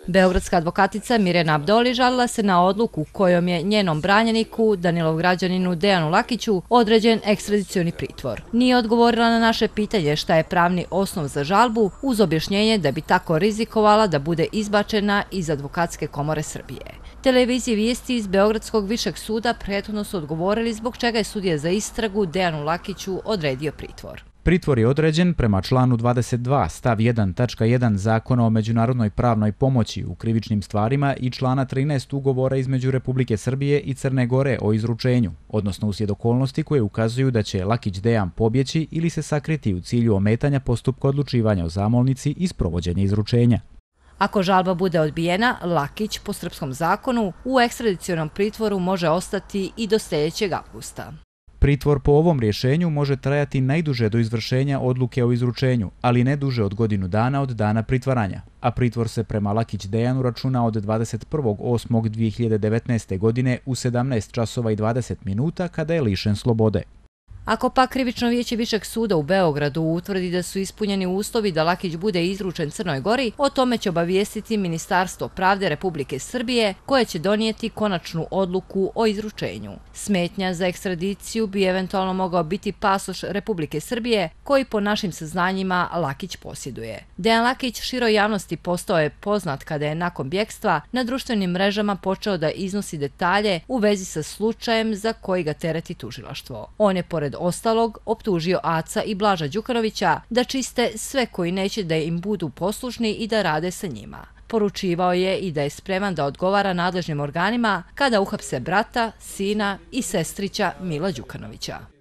Beogradska advokatica Mirjana Abdoli žalila se na odluku kojom je njenom branjeniku, Danilov građaninu Dejanu Lakiću, određen ekstradicioni pritvor. Nije odgovorila na naše pitanje šta je pravni osnov za žalbu, uz objašnjenje da bi tako rizikovala da bude izbačena iz Advokatske komore Srbije. Televiziji Vijesti iz Beogradskog višeg suda prethodno su odgovorili zbog čega je sudija za istragu Dejanu Lakiću odredio pritvor. Pritvor je određen prema članu 22 stav 1.1 Zakona o međunarodnoj pravnoj pomoći u krivičnim stvarima i člana 13 ugovora između Republike Srbije i Crne Gore o izručenju, odnosno uslijed okolnosti koje ukazuju da će Lakić Dejan pobjeći ili se sakriti u cilju ometanja postupka odlučivanja o zamolnici i sprovođenja izručenja. Ako žalba bude odbijena, Lakić po srpskom zakonu u ekstradicionom pritvoru može ostati i do sljedećeg avgusta. Pritvor po ovom rješenju može trajati najduže do izvršenja odluke o izručenju, ali ne duže od godinu dana od dana pritvaranja, a pritvor se prema Lakić Dejanu računa od 21.8.2019. godine u 17 časova i 20 minuta kada je lišen slobode. Ako pak krivično vijeće Višeg suda u Beogradu utvrdi da su ispunjeni uslovi da Lakić bude izručen Crnoj Gori, o tome će obavijestiti Ministarstvo pravde Republike Srbije, koje će donijeti konačnu odluku o izručenju. Smetnja za ekstradiciju bi eventualno mogao biti pasoš Republike Srbije, koji po našim saznanjima Lakić posjeduje. Dejan Lakić široj javnosti postao je poznat kada je nakon bjegstva na društvenim mrežama počeo da iznosi detalje u vezi sa slučajem za koji ga tereti tužilaštvo. On je pored ostalog optužio Aca i Blaža Đukanovića da čiste sve koji neće da im budu poslušni i da rade sa njima. Poručivao je i da je spreman da odgovara nadležnim organima kada uhapse brata, sina i sestrića Mila Đukanovića.